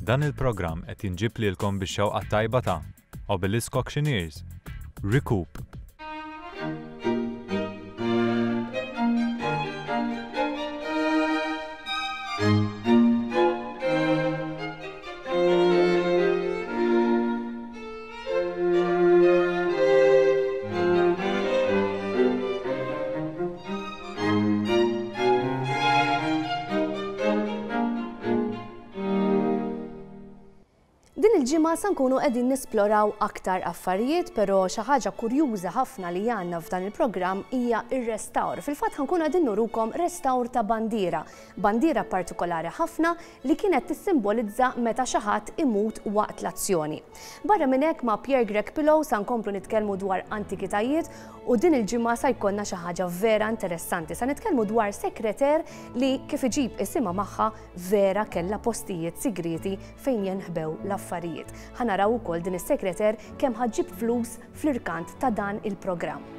Dan il-programm qed jinġieb lilkom bix-xewqa t-tajba ta' Obelisk Auctioneers, Recoup. Din il-ġimgħa sa nkunu qegħdin nisploraw aktar affarijiet, però xi ħaġa kurjuża ħafna li għandna f'dan il-programm hija r-restawr. Fil-fatt ħa nkunu qegħdin nurukom restawr ta' bandiera, bandiera partikolari ħafna li kienet tissimbolizza meta xi ħadd imut waqt l-azzjoni. Barra minn hekk ma' Pierre Grech Pillow sa nkomplu nitkellmu dwar antikitajiet u din il-ġimgħa sa jkollna xi ħaġa vera interessanti. Sa nitkellmu dwar sekreter li kif iġib isimha magħha vera kellha postijiet sigrieti fejn jenħbew l-affarijiet. Ħa naraw ukoll din is-sekreter kemm ħa ġġib flus fl-irkant ta' dan il-programm.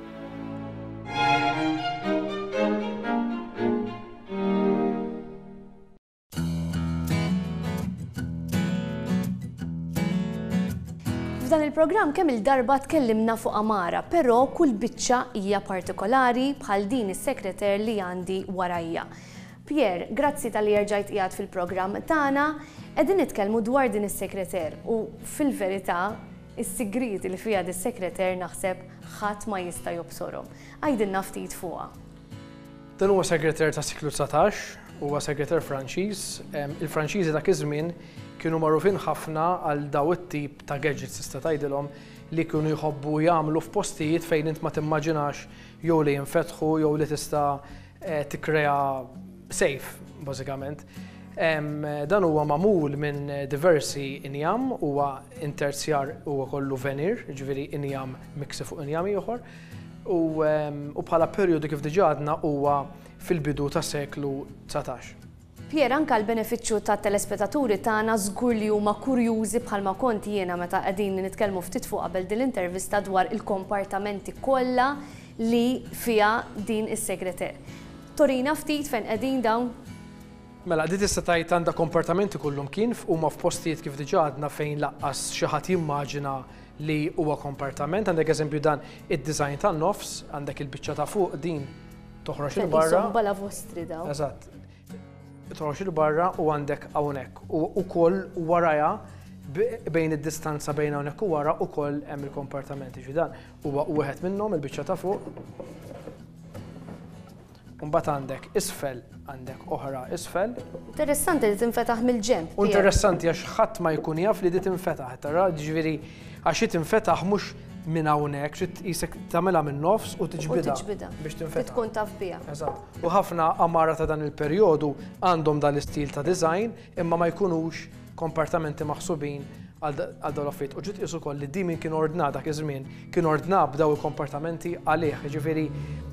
F'dan il-programm kemm il-darba tkellimna fuq għamara, però kull biċċa hija partikolari bħal din is-sekreter li għandi warajja. Pierre, grazzi talli erġajt qiegħed fil-programm tagħna. Qegħdin nitkellmu dwar din is-sekreter u fil-verità is-sigrieti li fiha dis-sekreter naħseb ħadd ma jista' jobsorhom. Għidilna ftit fuqha. Dan huwa segreter tas-seklu 19, huwa segreter Franċiż. Il-Franċiżi dak iż-żmien kienu magħrufin ħafna għal daw it-tip ta' gadgets tista' tgħidilhom li kienu jħobbu jagħmlu f'postijiet fejn int ma timmaġinax jew li jinfetħu jew li tista' eh, tikkrea safe bażikament. Dan huwa magħmul minn diversi injam, huwa interzjar huwa kollu veneer, ġifieri injam miksi fuq injam ieħor. U bħala perjodu kif diġà għadna huwa fil-bidu tas-seklu 19. Pierre, anke għall-benefiċċju tat-telespetaturi tagħna żgur li huma kurjużi bħalma kont jiena meta qegħdin nitkellmu ftit fuq qabel din l-intervista dwar il-kompartamenti kollha li fiha din is-segreter. Turina ftit fejn qegħdin dawn? Mela, di tista' tgħid għandha kompartamenti kullumkien, huma f'postijiet kif diġà għadna fejn laqqas xi ħadd jimmaġina li huwa kompartament. Għandek eżempju dan id-design tan-nofs, għandek il-biċċa ta' fuq din toħroġ 'il barra. Qishom balavostri dawn. Eżatt. Toħroġ 'il barra u għandek hawnhekk. U wkoll warajha bejn id-distanza bejn hawnhekk u wara wkoll hemm il-kompartamenti. Ġifieri dan huwa wieħed minnhom il-biċċa ta' fuq. U mbagħad għandek isfel, għandek oħra isfel. Interessanti li tinfetaħ mill-ġenb. U interessanti għax ħadd ma jkun jaf li di tinfetaħ, tara, ġifieri għax hi tinfetaħ mhux minn hawnhekk, trid qisek tagħmilha minn nofs u tiġbidha. U tiġbidha. Biex tinfetaħ. Tkun taf biha. Eżatt. U ħafna għamara ta' dan il-perjodu għandhom dan l-istil ta' design imma ma jkunux kompartamenti maħsubin għal dawn l-affarijiet. U ġiet tqis ukoll li di min kien ordna dak iż-żmien, kien ordna b'daw il-kompartamenti għalih. Jiġifieri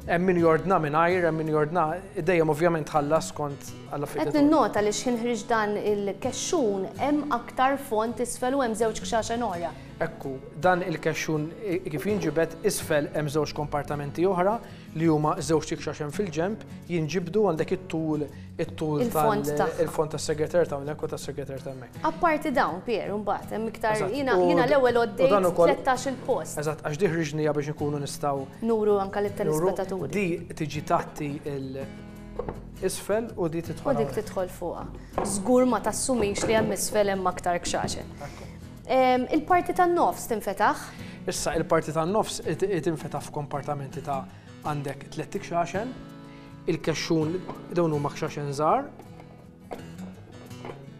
hemm min jordna mingħajr, hemm min jordna, dejjem ovvjament tħallas skont għall-affarijiet. Qed ninnota li x'ħin ħriġt dan il-kexxun hemm aktar fond isfel u hemm żewġ kxaxen oħra. Ekku, dan il-kexxun kif jinġibed isfel hemm żewġ kompartamenti oħra li huma żewġt ikxaxen fil-ġenb, jinġibdu għandek it-tul it-tul tal-fond tas-segreter ta' hawnhekk u tas-segreter ta' hemmhekk. Apparti dawn, Pier, imbagħad hemm iktar jiena jiena l-ewwel għoddejt 13 il-post. Eżatt, għax di ħriġnija biex inkunu nistgħu. Nuru anke lit-telespettaturi. Di tiġi tgħatti il isfel u di tidħol. U dik tidħol fuqha. Żgur ma tassumix li hemm isfel hemm aktar kxaxen. Il-parti tan-nofs tinfetaħ? Issa il-parti tan-nofs tinfetaħ f'kompartamenti ta' għandek tlett ikxaxen, il-kexxun dawn huma kxaxen żgħar,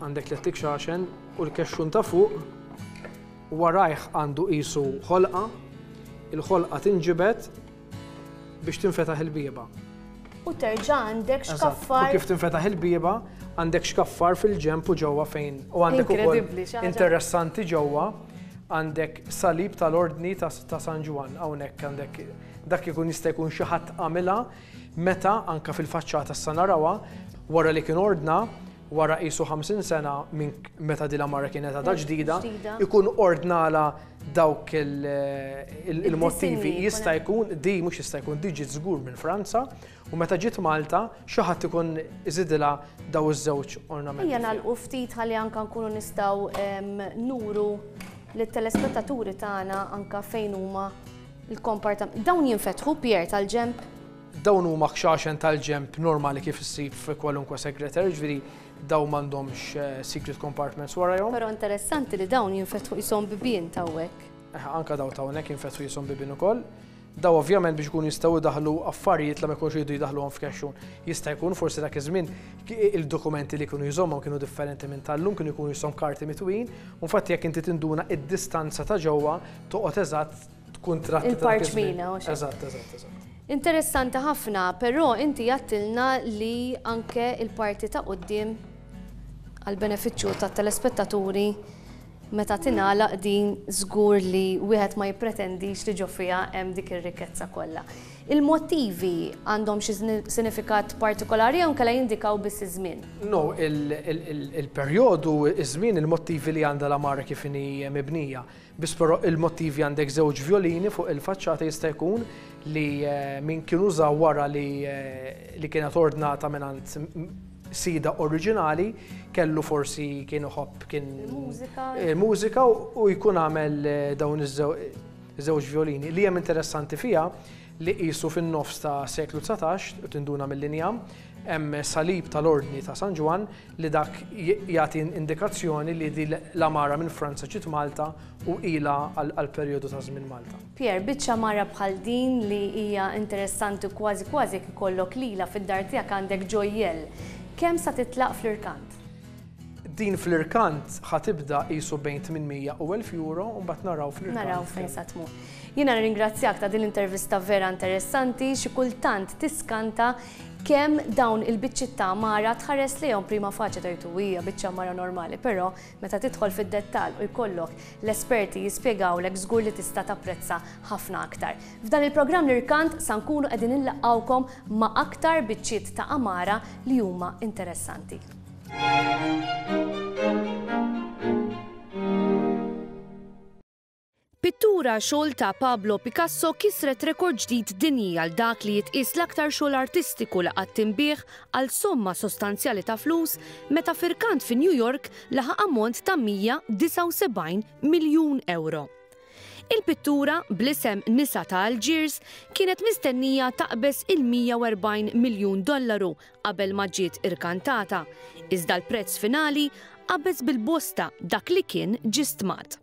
għandek tlett ikxaxen u l-kexxun ta' fuq warajh għandu qisu ħolqa, il-ħolqa tinġibed biex tinfetaħ il-bieba. U terġa' għandek xkaffar. U kif tinfetaħ il-bieba, għandek xkaffar fil-ġenb u ġewwa fejn. U għandek ukoll interessanti ġewwa għandek salib tal-ordni ta' San Ġwann hawnhekk għandek dak ikun jista' jkun xi ħadd għamilha meta anke fil-faċċata issa narawha wara li kien ordna. wara qisu 50 sena minn meta din l-għamara kienet għadha ġdida, ikun ordnalha dawk il-motivi. Jista' jkun, di mhux jista' jkun, di ġiet żgur minn Franza u meta ġiet Malta xi ħadd ikun iżidilha daw iż-żewġ ornamenti. Ejja nagħlqu ftit ħalli anke nkunu nistgħu nuru lit-telespettaturi tagħna anke fejn huma l-kompartament. Dawn jinfetħu, Pierre, tal-ġenb? Dawn huma kxaxen tal-ġenb normali kif issib fi kwalunkwe segreter, jiġifieri dawn m'għandhomx secret compartments warajhom. Però interessanti li dawn jinfetħu qishom bibien ta' hawnhekk. Eħe, anke dawn ta' hawnhekk jinfetħu qishom bibien ukoll. Dawn ovvjament biex ikunu jistgħu jdaħħlu affarijiet li ma jkunux iridu jdaħħluhom f'kexxun. Jista' jkun forsi dak iż-żmien il-dokumenti li kienu jżommhom kienu differenti minn tal-lum, kienu jkunu qishom karti mitwin, u infatti jekk inti tinduna id-distanza ta' ġewwa toqgħod eżatt tkun tratti ta' dak iż-żmien. Il-parċmina, u x'hekk. Eżatt, eżatt, eżatt. Interessanti ħafna, però inti għedtilna li anke il-parti ta' quddiem għall-benefiċċju tat-telespettaturi meta tingħalaq din żgur li wieħed ma jippretendix li ġo fiha hemm dik ir-rikkezza kollha. Il-motivi għandhom xi sinifikat partikolari jew inkella jindikaw biss iż-żmien? No, il-perjodu, iż-żmien, il-motivi li għandha l-għamara kif inhi mibnija. Biss però il-motivi għandek żewġ vjolini fuq il-faċċata jista' jkun li min kien uża wara li li kienet ordnata mingħand sida oriġinali kellu forsi kien iħobb kien Il-mużika. Il-mużika u jkun għamel dawn iż-żewġ vjolini. Li hemm interessanti fiha li qisu fin-nofs ta' seklu 19 u tinduna mill-injam hemm salib tal-Ordni ta' San Ġwann li dak jagħti indikazzjoni li din l-għamara minn Franza ġiet Malta u ilha għal perjodu ta' żmien Malta. Pierre, biċċa għamara bħal din li hija interessanti u kważi kważi jekk ikollok lilha fid-dar tiegħek għandek ġojjell, kemm sa titlaq fl-irkant? Din fl-irkant ħa tibda qisu bejn 800 u 1000 euro u mbagħad naraw fl-irkant. Naraw fejn sa tmur. Jiena nirringrazzjak ta' din l-intervista vera interessanti, xi kultant tiskanta kemm dawn il-biċċiet ta' għamara tħares lejhom prima facie tgħid u hija biċċa għamara normali, però meta tidħol fid-dettall u jkollok l-esperti jispjegawlek żgur li tista' tapprezza ħafna aktar. F'dan il-programm l-Irkant sa nkunu qegħdin inlaqqgħukom ma' aktar biċċiet ta' għamara li huma interessanti. Pittura xogħol ta' Pablo Picasso kisret rekord ġdid dinji għal dak li jitqies l-aktar xogħol artistiku li qatt inbiegħ għal somma sostanzjali ta' flus meta f'irkant fi New York laħaq ammont ta' 179 miljun ewro. Il-pittura, bl-isem Nisa ta' Algiers, kienet mistennija taqbeż il-140 miljun dollaru qabel ma ġiet irkantata, iżda l-prezz finali qabeż bil-bosta dak li kien ġie stmat.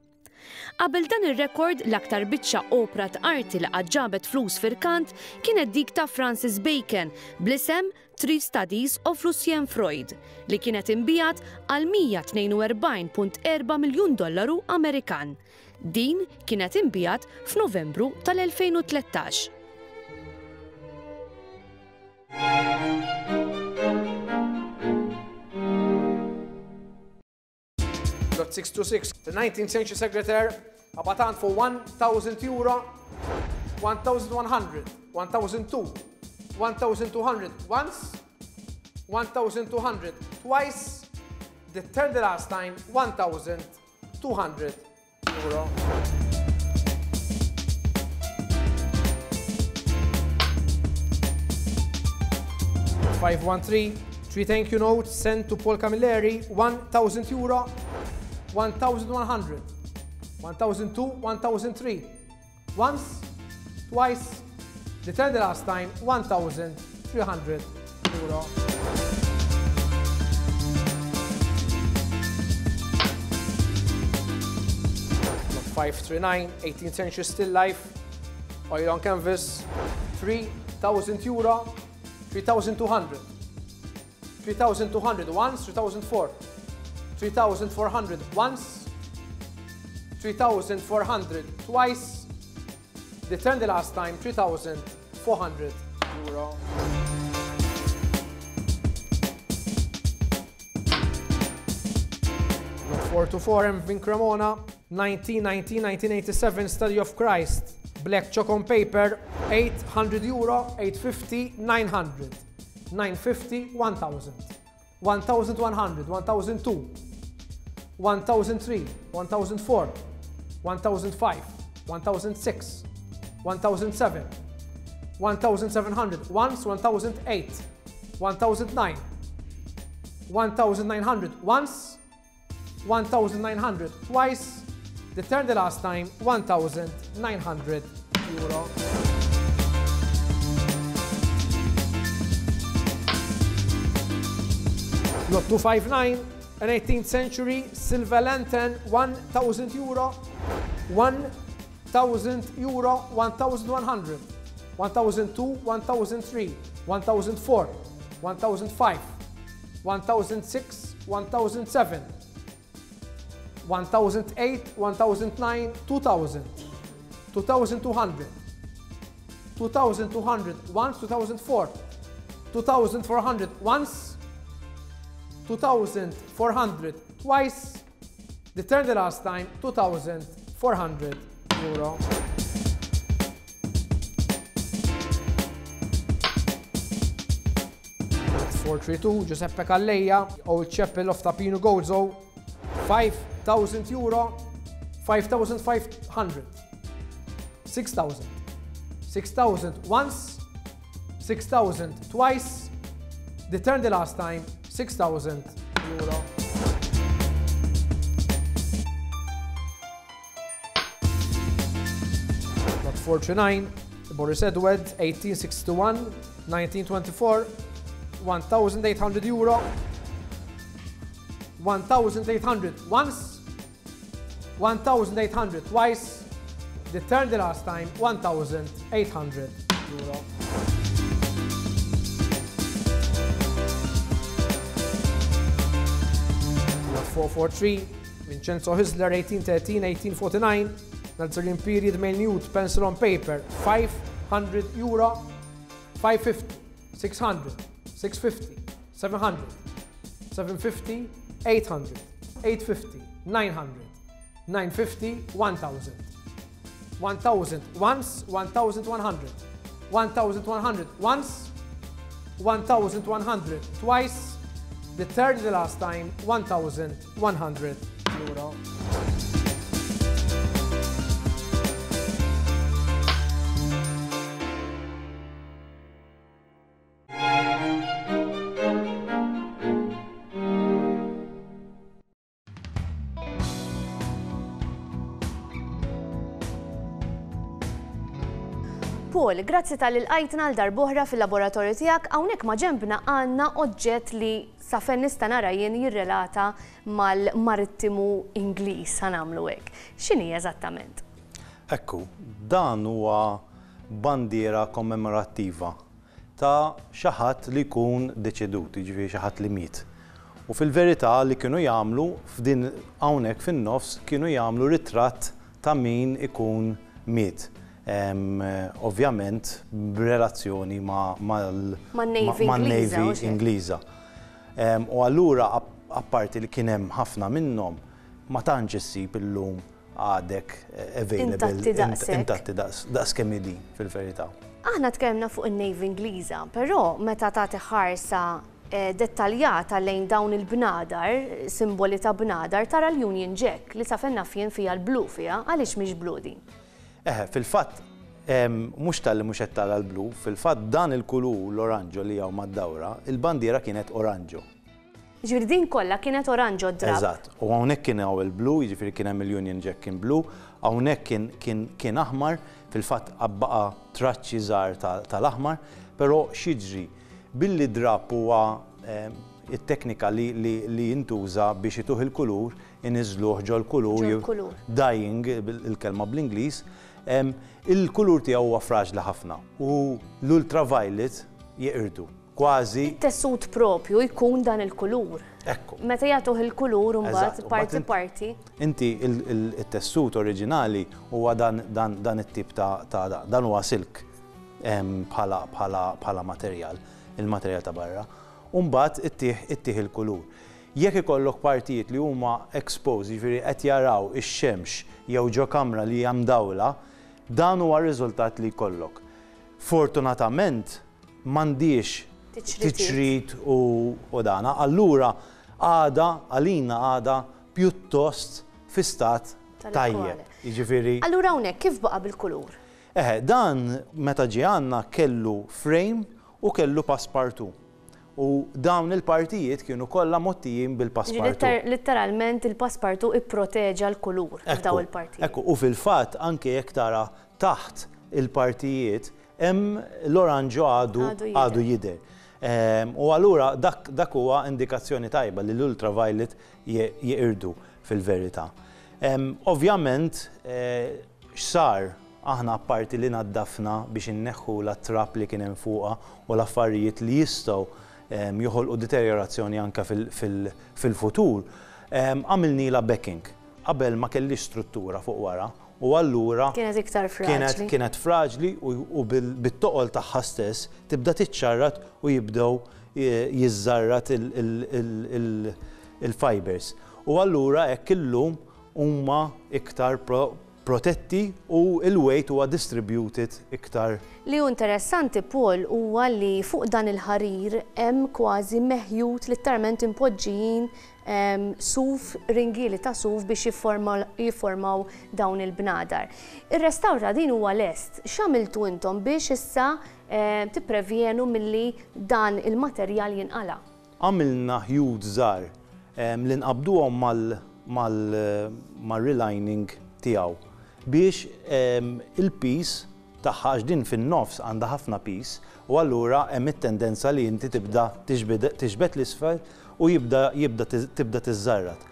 Qabel dan ir-rekord, l-aktar biċċa opra t'arti li qatt ġabet flus f'irkant kienet dik ta' Francis Bacon bl-isem Three Studies of Lucien Freud, li kienet inbiegħet għal 142.4 miljun dollaru Amerikan. Din kienet inbiegħet f'Novembru tal-2013. Lot 626, the 19th century secretaire, Abatan for 1,000 euro, 1,100, 1,002, 1,200 once, 1,200 twice, the third last time, 1,200 euro. 513, 3 thank you notes sent to Paul Camilleri, 1,000 euro, 1,100, 1,002, 1,003. Once, twice, the third last time, 1,300 euro. 539, 18th century still life, oil on canvas, 3,000 euro, 3,200, 3,200 once, 3,004, 3,400 once, 3,400 twice, the turn the last time, 3,400 euro. Lot 424 M. Vin Cremona, 1919, 1987, Study of Christ, black chalk on paper, 800 euro, 850, 900, 950, 1000. 1,100, 1,002, 1,003, 1,004, 1,005, 1,006, 1,007, 1,700, once, 1,008, 1,009, 1,900, once, 1,900 twice, the third the last time, 1,900 euro. Lot 259, an 18th century silver lantern, 1,000 euro, 1,000 euro, 1,100, 1,002, 1,003, 1,004, 1,005, 1,006, 1,007, 1,008, 1,009, 2,000, 2,200, 2,200 once, 2,004, 2,400 once, 2,400 twice, the third the last time, 2,400 euro. 432, Giuseppe Calleja, Old Chapel of Tapino Gozo, 5,000 euro, 5,500, 6,000, 6,000 once, 6,000 twice, the turn the last time, 6,000 euro. Lot 49, Boris Edward, 1861, 1924, 1,800 euro, 1,800 once, 1,800 twice, the turn the last time, 1,800 euro. Lot 443, Vincenzo Hisler, 1813, 1849, Nazarene period male nude, pencil on paper, 500 euro, 550, 600, 650, 700, 750, 800, 850, 900, 950, 1000. 1000 once, 1100, 1100 once, 1100 twice, the third the last time, 1100 euro. Paul, grazzi talli lqajtna għal darb'oħra fil-laboratorju tiegħek. Hawnhekk ma' ġenbna għandna oġġett li sa fejn nista' nara jien jirrelata mal-marittimu Ingliż, ħa nagħmlu hekk. X'inhi eżattament? Ekku, dan huwa bandiera kommemorattiva ta' xi ħadd li jkun deċedut, jiġifieri xi ħadd li miet. U fil-verità li kienu jagħmlu f'din hawnhekk fin-nofs kienu jagħmlu ritratt ta' min ikun miet. Ovvjament b'relazzjoni man-Navy Ingliża. U allura apparti li kien hemm ħafna minnhom, ma tantx issib illum għadek available intatti daqs kemm hi din fil-verità. Aħna tkellimna fuq in-Navy Ingliża, però meta tagħti ħarsa dettaljata lejn dawn il-bnadar, simboli ta' bnadar, tara l-Union Jack li sa fejn naf jien fiha l-blu fiha, għaliex mhix blu din? Eħe, fil-fatt mhux talli mhux qed tara l-blu, fil-fatt dan il-kulur l-oranġo li hawn mad-dawra, il-bandiera kienet oranġo. Jiġifieri din kollha kienet oranġo d-drapp. Eżatt. U hawnhekk kien hawn il-blu, jiġifieri kien hemm il-Union Jack kien blu, hawnhekk kien kien kien aħmar, fil-fatt baqa' traċċi żgħar tal-aħmar, però x'jiġri? Billi d-drapp huwa it-teknika li li li jintuża biex ituh il-kulur, iniżżluh ġol-kulur, Ġol-kulur. dyeing il-kelma bl-Ingliż, il-kulur tiegħu huwa fraġli ħafna u l-ultraviolet jeqirdu. Kważi. It-tessut propju jkun dan il-kulur. Ekku. Meta jagħtuh il-kulur imbagħad parti parti. Inti it-tessut oriġinali huwa dan dan dan it-tip ta' ta' dan huwa silk bħala bħala bħala materjal, il-materjal ta' barra. U mbagħad ittih ittih il-kulur. Jekk ikollok partijiet li huma exposed, jiġifieri qed jaraw ix-xemx jew ġo kamra li hija mdawla, dan huwa r-riżultat li jkollok. Fortunatament, M'għandhiex tiċrit u dana. Allura għadha għalina għadha pjuttost fi stat tajjeb. Jiġifieri. Allura hawnhekk kif baqa' bil-kulur? Eħe, dan meta ġie għandna kellu frame u kellu passepartout. U dawn il-partijiet kienu kollha mgħottijin bil-passepartout. Litteralment il-passepartout ipproteġa l-kulur f'dawn il-partijiet. Ekku, u fil-fatt anke jekk tara taħt il-partijiet hemm l-oranġo għadu għadu jidher. U allura dak dak huwa indikazzjoni tajba li l-ultraviolet jeqirdu fil-verità. Ovvjament x'sar aħna apparti li naddafna biex inneħħulha t-trab li kien hemm fuqha u l-affarijiet li jistgħu joħolqu deterjorazzjoni anke fil-futur, għamilnilha backing. Qabel ma kellhiex struttura fuq wara u allura Kienet iktar fraġli. Kienet fraġli u bit-toqol tagħha stess tibda tiċċarrat u jibdew jiżżarrat il-fibers. U allura hekk illum huma iktar protetti u l-weight huwa distributed iktar. Li hu interessanti, Paul, huwa li fuq dan il-ħarir hemm kważi meħjut litteralment impoġġijin suf, ringieli ta' suf biex jifformaw dawn il-bnadar. Ir-restawr ta' din huwa lest. X'għamiltu intom biex issa tipprevjenu milli dan il-materjal jinqala'? Għamilna ħjut żgħar li nqabbduhom mal-relining tiegħu biex il-piż tagħha, għax din fin-nofs għandha ħafna piż u allura hemm it-tendenza li inti tibda tiġbed 'l isfel u jibda jibda tibda tiżżarrat.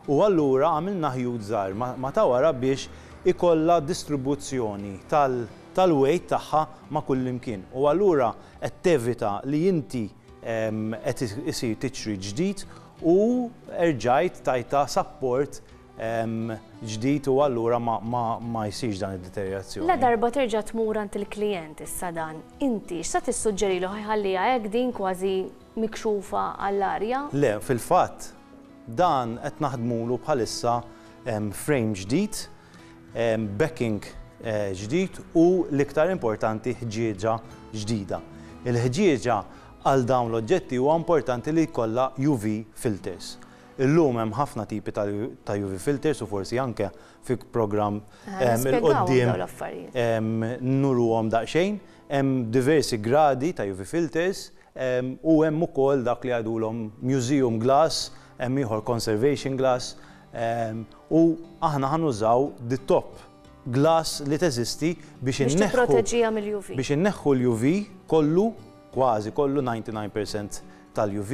U allura għamilna ħjut żgħar ma' ta' wara biex ikollha distribuzzjoni tal-weight tagħha ma' kullimkien u allura qed tevita li inti qed isir tiċrit ġdid u erġajt tajtha sapport ġdid u allura ma jsirx dan id-deterjorazzjoni. Ladarba terġa' tmur għand il-klijent issa dan, inti x'sa tissuġġerilu ħa jħalliha hekk din kważi mikxufa għall-arja? Le, fil-fatt dan qed naħdmulu bħalissa frame ġdid backing ġdid u l-iktar importanti ħġieġa ġdida. Il-ħġieġa għal dawn l-oġġetti huwa importanti li jkollha UV filters. Illum hemm ħafna tipi ta' UV filters u forsi anke fi programm 'il quddiem nuruhom daqsxejn. Hemm diversi gradi ta' UV filters U hemm ukoll dak li jgħidulhom museum glass, hemm ieħor conservation glass, u aħna ħa nużaw the top glass li teżisti biex inneħħu. Biex tipproteġiha mill-UV. Biex inneħħu l-UV kollu, kważi kollu, 99% tal-UV,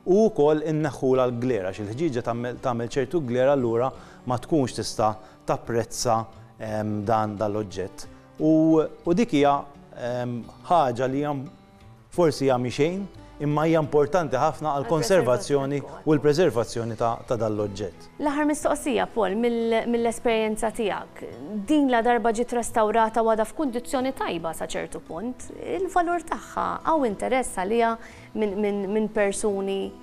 u wkoll inneħħulha l-glare għax il-ħġieġa tagħmel ċertu glare allura ma tkunx tista' tapprezza dan l-oġġett. U dik hija ħaġa li hija Forsi hija mhi xejn, imma hija importanti ħafna għall-konservazzjoni u l-preservazzjoni ta' dan l-oġġett. L-aħħar mistoqsija, Paul, mill-esperjenza tiegħek. Din ladarba ġiet restawrata u għadha f'kundizzjoni tajba sa ċertu punt, il-valur tagħha hawn interess għaliha minn persuni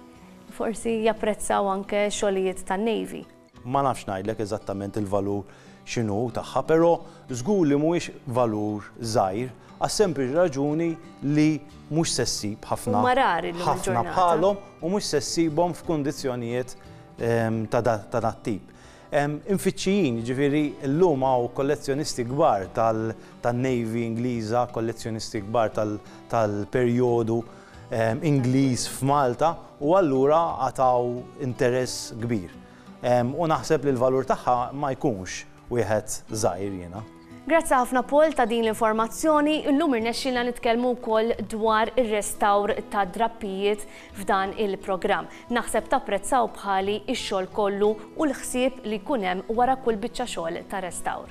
forsi japprezzaw anke xogħlijiet tan-Navy? Ma nafx ngħidlek eżattament il-valur x'inhu tagħha, però żgur li mhuwiex valur żgħir għas-sempliċi raġuni li mhux se ssib ħafna ħafna bħalhom u mhux se ssibhom f'kundizzjonijiet ta' dat-tip. Imfittxijin, jiġifieri llum hawn kollezzjonisti kbar tan-Navy Ingliża, kollezzjonisti kbar tal-perjodu Ingliż f'Malta u allura għataw interess kbir. U naħseb li l-valur tagħha ma jkunx wieħed żgħir jiena. Grazzi ħafna Paul ta' din l-informazzjoni. Illum irnexxielna nitkellmu wkoll dwar ir-restawr ta' drappijiet f'dan il-programm. Naħseb tapprezzaw bħali x-xogħol kollu u l-ħsieb li jkun hemm wara kull biċċa xogħol ta' restawr.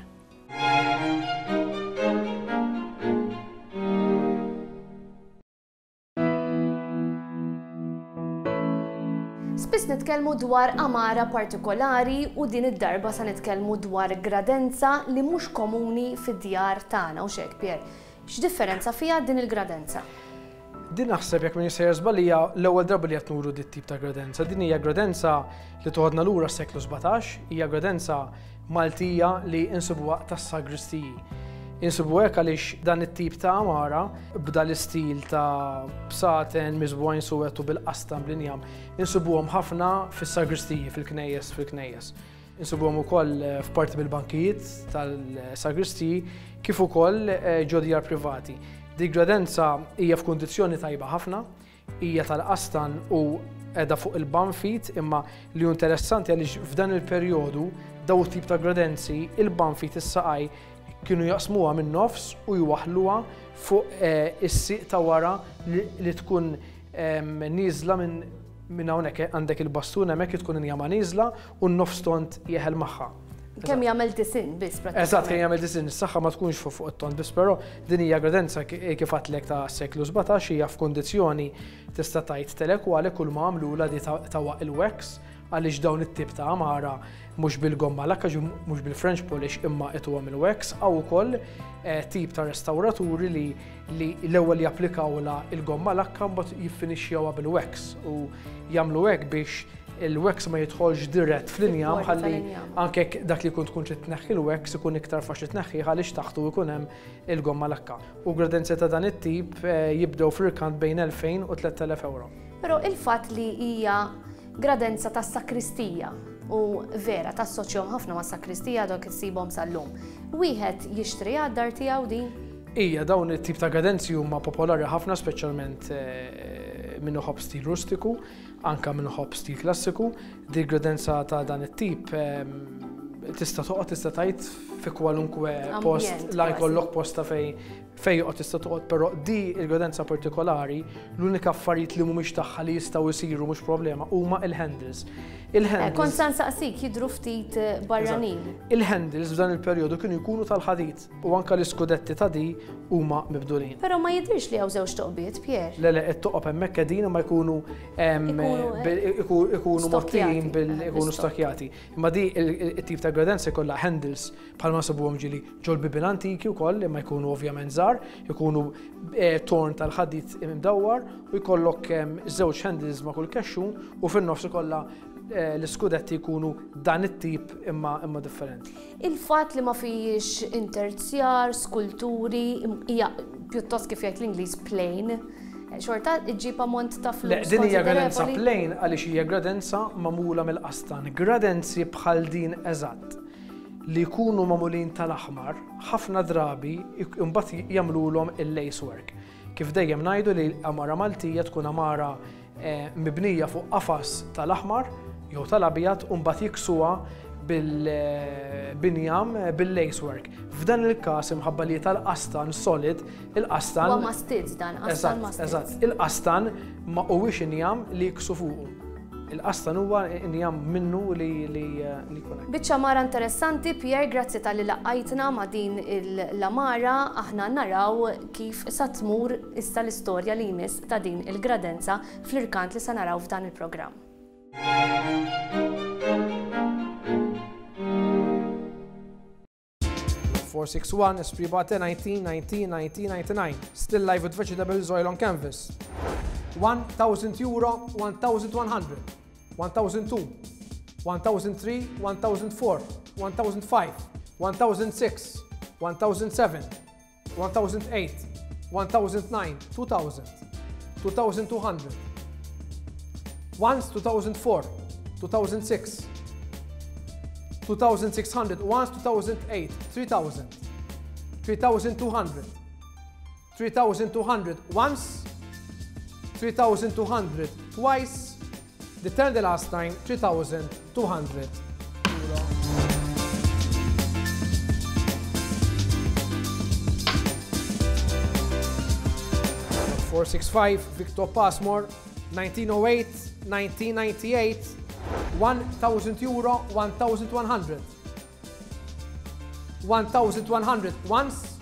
Spiss nitkellmu dwar għamara partikolari u din id-darba sa nitkellmu dwar gradenza li mhux komuni fid-djar tagħna u xek Pier. X'differenza fiha din il-gradenza? Din naħseb jekk m'iniex sejjer żball hija l-ewwel darba li qed nuru dit tip ta' gradenza. Din hija gradenza li toħodna lura s-seklu 17, hija gradenza Maltija li insibuha tas-sagristiji. Insibu hekk għaliex dan it-tip ta' għamara b'dan l-istil ta' bsaten miżbugħin suwed u bil-qastan bl-injam, insibuhom ħafna fis-sagristiji, fil-knejjes, fil-knejjes. Insibuhom ukoll f'parti mill-bankijiet tal-sagristiji kif ukoll ġo djar privati. Dik gradenza hija f'kundizzjoni tajba ħafna, hija tal-qastan u qiegħda fuq il-banfit imma li hu interessanti għaliex f'dan il-perjodu daw it-tip ta' gradenzi il-banfit is-saqaj kienu jaqsmuha min-nofs u jwaħħluha fuq eh, is-sieq ta' wara li tkun nieżla minn minn hawnhekk għandek il-bastun hemmhekk tkun injama nieżla u n-nofs tond jeħel magħha. Kemm jagħmel disin biss prattikament. Eżatt, kemm jagħmel disin, is-saħħa ma tkunx fuq fuq it-tond biss, però din hija gradenza kif għadtlek ta' seklu 17 hija f'kundizzjoni tista' tgħid telekwale kull ma għamlulha di tawha il-wax għaliex dawn it-tip ta' għamara mhux bil-gomma lakka mhux bil-French polish imma ituhom il-wax hawn ukoll eh, tip ta' restawraturi li li l-ewwel japplikawlha il-gomma lakka mbagħad jiffinixxjawha bil-wax u jagħmlu hekk biex il-wax ma jidħolx dirett fl-injam ħalli anke dak li jkun tkun trid tneħħi l-wax ikun iktar faċli tneħħih għaliex taħtu jkun hemm il-gomma lakka. U gradenzi ta' dan it-tip eh, jibdew fl-irkant bejn 2000 u 3000 euro. Però il-fatt li hija gradenza tas-sakristija u vera tassoċjahom ħafna mas-sakristija dawk issibhom sal-lum. Wieħed jixtri għad-dar tiegħu din? Ija, dawn it-tip ta' gradenzi huma popolari ħafna speċjalment eh, min iħobb stil rustiku, anka min iħobb stil klassiku. Di gradenza ta' dan it-tip ehm, tista' toqgħod tista' tgħid fi kwalunkwe post la jkollok posta fej fej joqgħod tista' toqgħod, però di il-gradenza partikolari l-unika affarijiet li mhumiex tagħha li jistgħu jsiru mhux problema huma il-handles. Il-handles. Eh, kont sa nsaqsik jidhru ftit eh, barranin. Il-handles f'dan il-perjodu kienu jkunu tal-ħadid. U anke l-iskudetti ta' di huma mibdulin. Però ma jidhirx li hawn żewġ toqbiet, Pierre. Le, le, it-toqob hemmhekk qegħdin imma jkunu ikunu mgħottijin bil ikunu stakjati. Imma di it-tip ta' gradenza jkollha handles bħalma nsibuhom ġieli ġol-bibien antiki wkoll imma jkunu ovvjament żgħar, ikunu eh, torn tal-ħadid imdawwar u jkollok żewġ handles ma' kull kexxun u fin-nofs ikollha eh, l-iskudetti jkunu dan it-tip imma imma differenti. Il-fatt li ma fihiex interzjar, skulturi, hija pjuttost kif jgħid l-Ingliż plain, xorta ġġib ammont ta' flus. Le, din hija gradenza plain għaliex hija gradenza magħmula mill-qastan. Gradenzi bħal din eżatt li jkunu magħmulin tal-aħmar, ħafna drabi imbagħad jagħmlulhom il-lace work. Kif dejjem ngħidu li l-għamara Maltija tkun għamara mibnija fuq qafas tal-aħmar jew tal-abjad u mbagħad jiksuha bil-binjam bil-lace work. F'dan il-każ imħabba li tal-qastan solid, il-qastan. Huwa mastizz dan, qastan mastizz. Eżatt, il-qastan ma huwiex injam li jiksu fuqu. Il-qastan huwa injam minnu li jkun hekk. Biċċa għamara interessanti, Pierre, grazzi talli laqqajtna ma' din l-għamara. Aħna naraw kif sa tmur issa l-istorja li jmiss ta' din il-gradenza fl-irkant li sa naraw f'dan il-programm. 461 Esprit Bate 1990 1999 Still life with vegetables oil on canvas 1000 euro 1100 1002 1003 1004 1005 1006 1007 1008 1009 2000 2200 once 2004 2006 2600 once 2008 3000 3200 3200 once 3200 twice The turn the last time 3200 euro. 465 Victor Passmore 1908 1998 1000 euro 1100 1100 once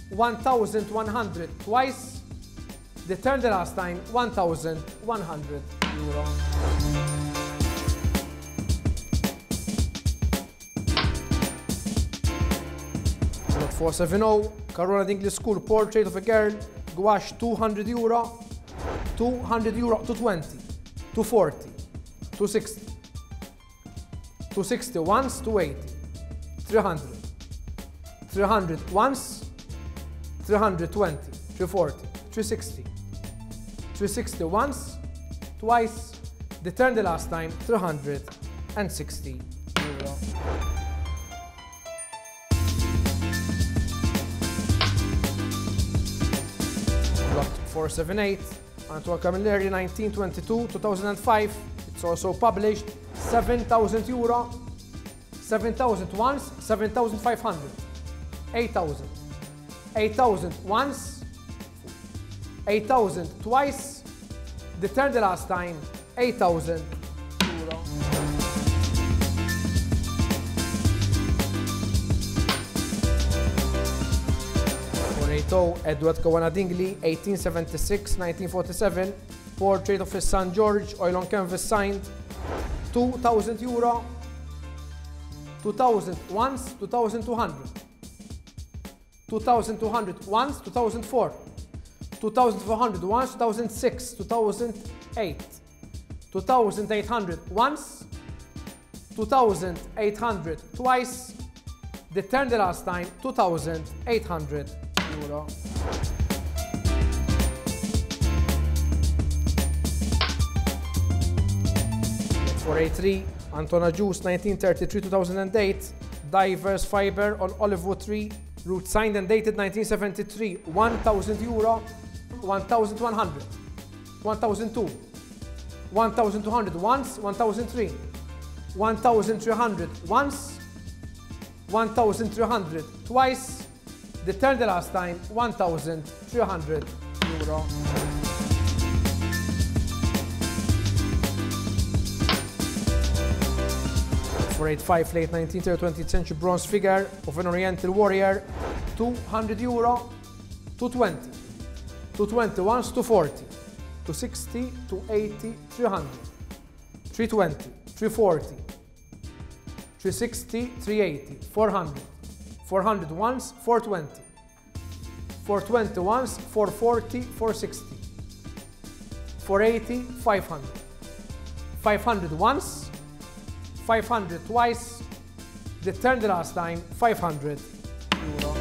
1100 twice The turn the last time 1100 euro. Lot 470, Caruana Dingley School Portrait of a Girl, gouache 200 euro, 200 euro, 220, 240, 260, 260 once, 280, 300, 300 once, 320, 340, 360. 360 once, twice, the turn the last time, 360 euro. Lot 478, Antoine Camilleri, 1922, 2005. It's also published, 7,000 euro, 7,000 once, 7,500, 8,000, 8,000 once, 8,000 twice, the turn the last time, 8,000 euro. Edward Caruana Dingli, 1876-1947, portrait of his son George, oil on canvas signed, 2,000 euro, 2,000 once, 2,200. 2,200 once, 2004. 2,400 once, 2006, 2008. 2,800 once, 2,800 twice, the turn the last time, 2,800 euro. 483, Anton Agius, 1933-2008, Divers Fiber on Olivewood tree, root signed and dated 1973, 1,000 euro, 1,100, 1,002, 1,200 once, 1,003, 1,300 once, 1,300 twice, the turn the last time, 1,300 euro. 485 late 19th or 20th century bronze figure of an Oriental warrior, 200 euro, 220, 220 once, 240, 260, 280, 300, 320, 340, 360, 380, 400, 400 once, 420, 420 once, 440, 460, 480, 500, 500 once, 500 twice, the turn the last time, 500 euro.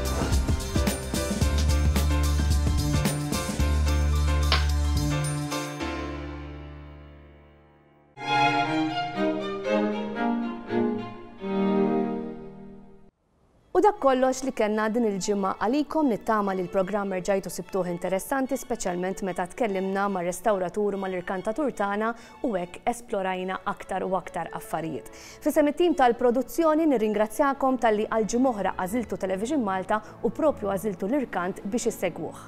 U dak kollox li kellna din il-ġimgħa għalikom nittama li l-programm erġajtu sibtuh interessanti speċjalment meta tkellimna mar-restawratur u mal-irkantatur tagħna u hekk esplorajna aktar u aktar affarijiet. F'isem it-tim tal-produzzjoni nirringrazzjakom talli għal ġimgħa oħra għażiltu Television Malta u propju għażiltu l-irkant biex issegwuh.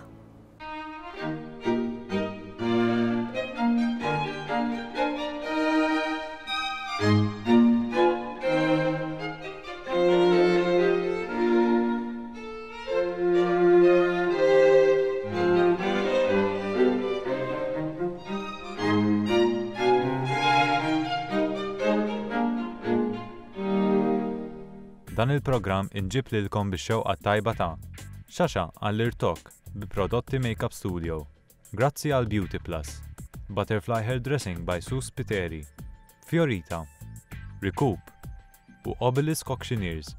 Dan il-programm inġieb lilkom bix-xewqa t-tajba ta' Xaxa għall-irtokk bi prodotti Makeup Studio. Grazzi għal Beauty Plus. Butterfly Hair Dressing by Sue Spiteri. Fiorita. Recoup. U Obelisk Auctioneers.